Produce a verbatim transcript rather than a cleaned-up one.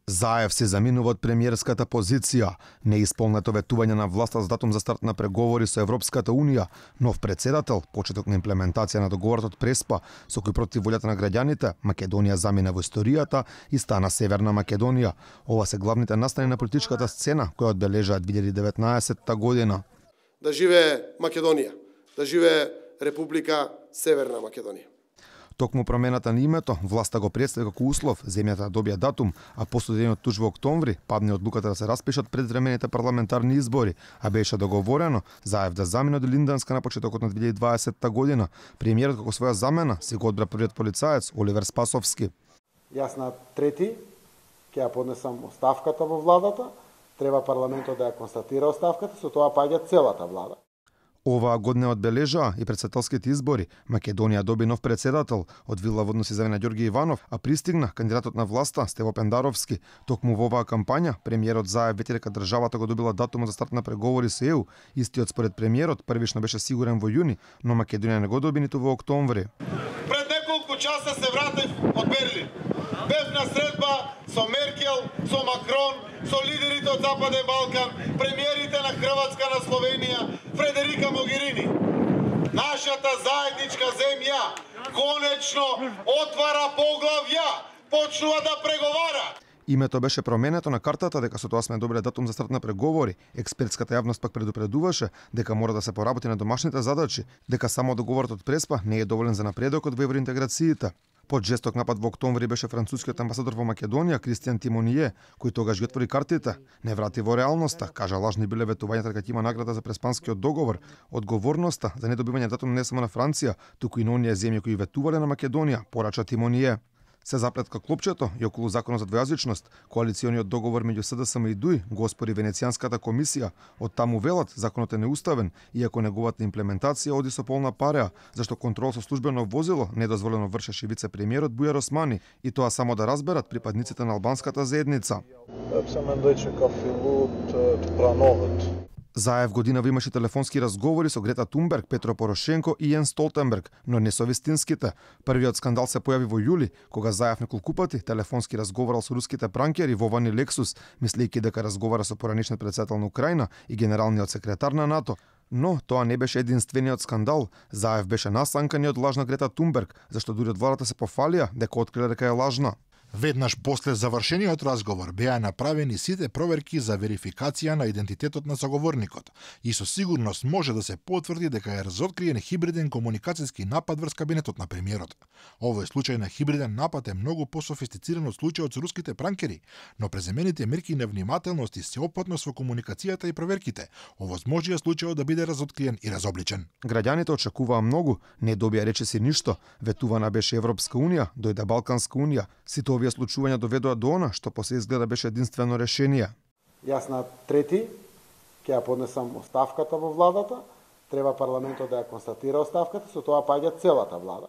Заев се заминува од премиерската позиција. Неисполнето ветување на власта за датум за старт на преговори со Европската унија, нов председател, почеток на имплементација на договорот од Преспа, со кој против волјата на граѓаните, Македонија замина во историјата и стана Северна Македонија. Ова се главните настани на политичката сцена која одбележаа две илјади и деветнаесетта година. Да живее Македонија, да живее Република Северна Македонија. Токму промената на името, власта го представи како услов земјата да добија датум, а последниот туж во октомври падне одлуката да се распишат предвремените парламентарни избори, а беше договорено Заев да замине од Линданска на почетокот на две илјади и дваесетта година. Премиерот како своја замена си го одбра првиот полицаец Оливер Спасовски. Јас на трети ќе ја поднесам оставката во владата, треба парламентот да ја констатира оставката, со тоа паѓа целата влада. Оваа година одбележаа и председателските избори. Македонија доби нов председател, од Вила водно се завена Ѓорги Иванов, а пристигна кандидатот на власта Стево Пендаровски. Токму во оваа кампања, премиерот Заев вети дека државата го добила датумот за старт на преговори со Е У. Истиот според премиерот првично беше сигурен во јуни, но Македонија не го доби ниту во октомври. Пред неколку часа се вратив од Берлин. Бев на средба со Меркел, со Макрон, со лидерите од Западен Балкан, премиерите на Хрватска, на Словенија, Фредерика Могерини. Нашата заедничка земја конечно отвара поглавја, почнува да преговара. Името беше променето на картата дека со тоа сме добиле датум за старт на преговори. Експертската јавност пак предупредуваше дека мора да се поработи на домашните задачи, дека само договорот од Преспа не е доволен за напредокот во евроинтеграциите. Под жесток напад во октомври беше францускиот амбасадор во Македонија Кристијан Тимоние, кој тогаш ги отвори картите, не врати во реалноста, кажа лажни биле ветувањата дека ќе има награда за Преспанскиот договор. Одговорноста за недобивање датум не само на Франција, туку и на оние земји кои ветувале на Македонија, порача Тимоние. Се заплетка клопчето и околу законот за двојазичност, коалициониот договор меѓу С Д С М и Д У И го оспори Венецијанската комисија. Од таму велат законот е неуставен, иако неговата имплементација оди со полна пареа, зашто контрол со службено возило недозволено вршеше вице-премиерот Бујар Османи, и тоа само да разберат припадниците на албанската заедница. Заев годинава имаше телефонски разговори со Грета Тунберг, Петро Порошенко и Јенс Столтенберг, но не со вистинските. Првиот скандал се појави во јули, кога Заев неколку пати телефонски разговарал со руските пранкери Вован Лексус, мислејќи дека разговара со поранишниот председател на Украина и генералниот секретар на НАТО. Но тоа не беше единствениот скандал. Заев беше насанкан и од лажна Грета Тунберг, зашто дури од владата се пофалија дека откриле дека е лажна. Веднаш после завршениот разговор беа направени сите проверки за верификација на идентитетот на соговорникот и со сигурност може да се потврди дека е разоткриен хибриден комуникацијски напад врз кабинетот на премиерот. Овој случај на хибриден напад е многу пософистициран од случајот со руските пранкери, но преземените мерки на внимателност и сеопфатност во комуникацијата и проверките овозможија случајот да биде разоткриен и разобличен. Граѓаните очекуваа многу, не добија речиси ништо. Ветувана беше Европска унија, дојде Балканска унија. Сите овие случувања доведоа до она што после изгледа беше единствено решение. Јас на трети ќе ја поднесам оставката во владата, треба парламентот да ја констатира оставката, со тоа паѓа целата влада.